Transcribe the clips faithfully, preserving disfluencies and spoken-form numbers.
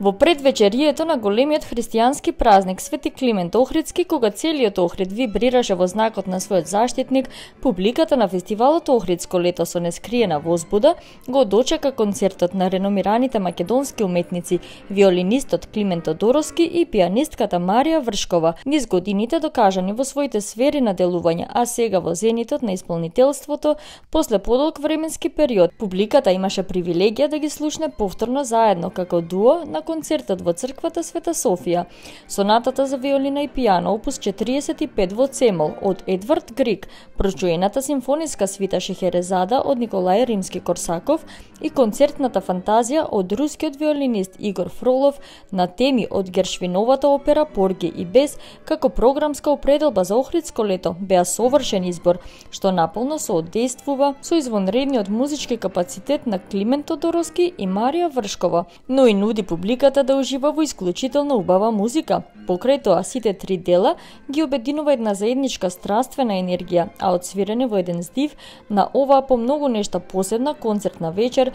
Во предвечерието на големиот христијански празник Свети Климент Охридски, кога целиот Охрид вибрираше во знакот на својот заштитник, публиката на фестивалот Охридско лето со нескриена возбуда го дочека концертот на реномираните македонски уметници, виолинистот Климент Тодоровски и пијанистката Марија Вршкова, низ годините докажани во своите сфери на делување, а сега во зенитот на исполнителството, после подолг временски период, публиката имаше привилегија да ги слушне повторно заедно како дуо на концертот во црквата Света Софија. Сонатата за виолина и пијано опус четириесет и пет во цемол од Едвард Григ, прочуената симфониска свита Шехерезада од Николај Римски-Корсаков и концертната фантазија од рускиот виолинист Игор Фролов на теми од Гершвиновата опера Порги и Бес како програмска определба за Охридско лето беа совршен избор, што наполно соодействува со извонредниот музички капацитет на Климент Тодоровски и Марија Вршкова, но и нуди публиката да ужива во исклучително убава музика. Покрај тоа, сите три дела ги обединува една заедничка страствена енергија, а одсвирени во еден здив на оваа по многу нешта посебна концертна вечер,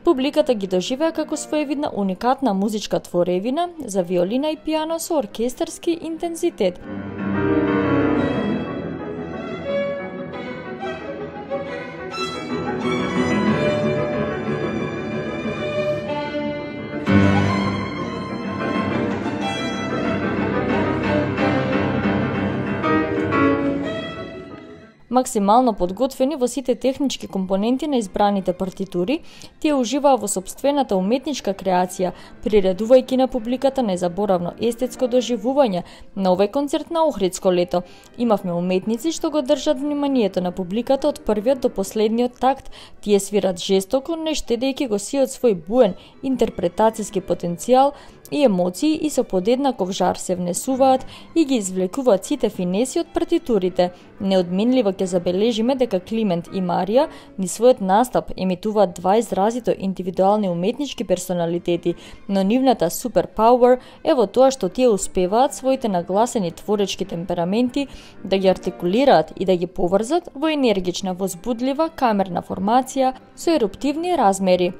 публиката ги доживеа како своевидна уникатна музичка творевина за виолина и пијано со оркестарски интензитет. Максимално подготвени во сите технички компоненти на избраните партитури, тие уживаа во сопствената уметничка креација, приредувајќи на публиката незаборавно естетско доживување на овој концерт на Охридско лето. Имавме уметници што го држат вниманието на публиката од првиот до последниот такт. Тие свират жестоко, не штедејќи го сиот свој буен интерпретацијски потенцијал и емоции и со подеднаков жар се внесуваат и ги извлекуваат сите финеси од партитурите. Неодменливо ќе забележиме дека Климент и Марија ни својот настап емитуваат два изразито индивидуални уметнички персоналитети, но нивната супер пауер е во тоа што тие успеваат своите нагласени творечки темпераменти да ги артикулираат и да ги поврзат во енергична, возбудлива камерна формација со еруптивни размери.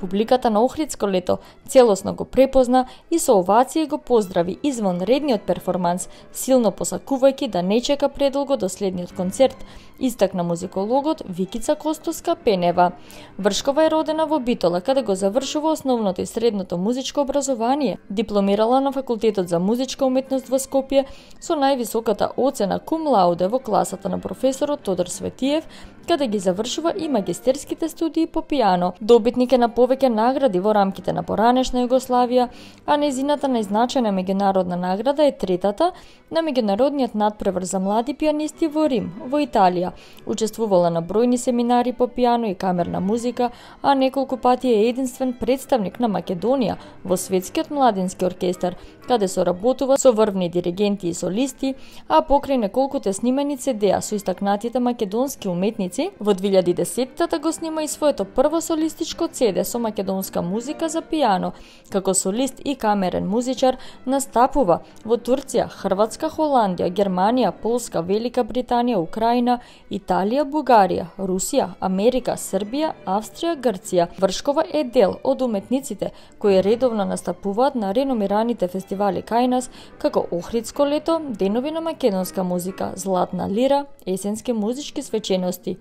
Публиката на Охридско лето целосно го препозна и со овации го поздрави извонредниот перформанс, силно посакувајќи да не чека предолго до следниот концерт, истакна музикологот Викица Костовска-Пенева. Вршкова е родена во Битола, каде го завршува основното и средното музичко образование. Дипломирала на Факултетот за музичка уметност во Скопје со највисоката оцена кум лауде во класата на професорот Тодор Светиев, каде ги завршува и магистерските студии по пијано. Добитник е на повеќе награди во рамките на поранешна Југославија, а незината најзначајна меѓународна награда е третата на меѓународниот надпревар за млади пијанисти во Рим, во Италија. Учествувала на бројни семинари по пијано и камерна музика, а неколку пати е единствен представник на Македонија во Светскиот младински оркестар, каде соработува со врвни диригенти и солисти, а покрај неколкуте снимани цедеа со истакнатите македонски уметници, во две илјади и десетта го снима и своето прво солистичко цеде со македонска музика за пијано. Како солист и камерен музичар настапува во Турција, Хрватска, Холандија, Германија, Полска, Велика Британија, Украина, Италија, Бугарија, Русија, Америка, Србија, Австрија, Грција. Вршкова е дел од уметниците кои редовно настапуваат на реномираните фестивали кај нас, како Охридско лето, Денови на македонска музика, Златна лира, Есенски музички свечености.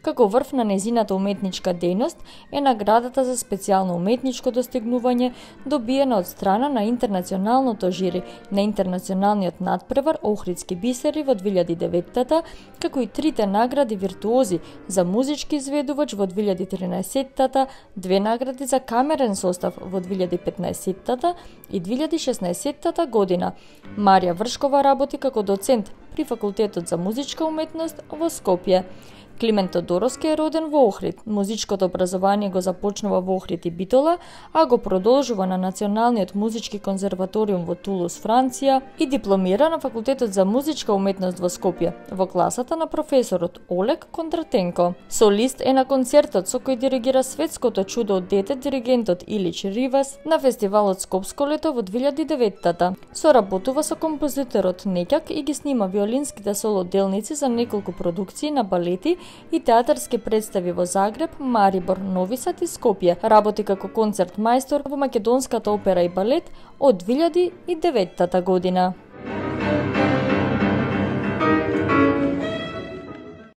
Како врв на незината уметничка дејност е наградата за специјално уметничко достигнување добиена од страна на интернационалното жири на интернационалниот надпревар Охридски бисери во две илјади и деветта, како и трите награди виртуози за музички изведувач во две илјади и тринаесетта, две награди за камерен состав во две илјади и петнаесетта и две илјади и шеснаесетта година. Марија Вршкова работи како доцент при Факултетот за музичка уметност во Скопје. Климент Тодоровски е роден во Охрид. Музичкото образование го започнува во Охрид и Битола, а го продолжува на Националниот музички конзерваториум во Тулус, Франција и дипломира на Факултетот за музичка уметност во Скопје, во класата на професорот Олег Кондратенко. Солист е на концертот со кој диригира светското чудо од дете диригентот Илич Ривас на фестивалот Скопско лето во две илјади и деветта. Соработува со композиторот Неќак и ги снима виолинските соло делници за неколку продукции на балети и театарски представи во Загреб, Марибор, Нови Сад и Скопје. Работи како концерт мајстор во Македонската опера и балет од две илјади и деветта година.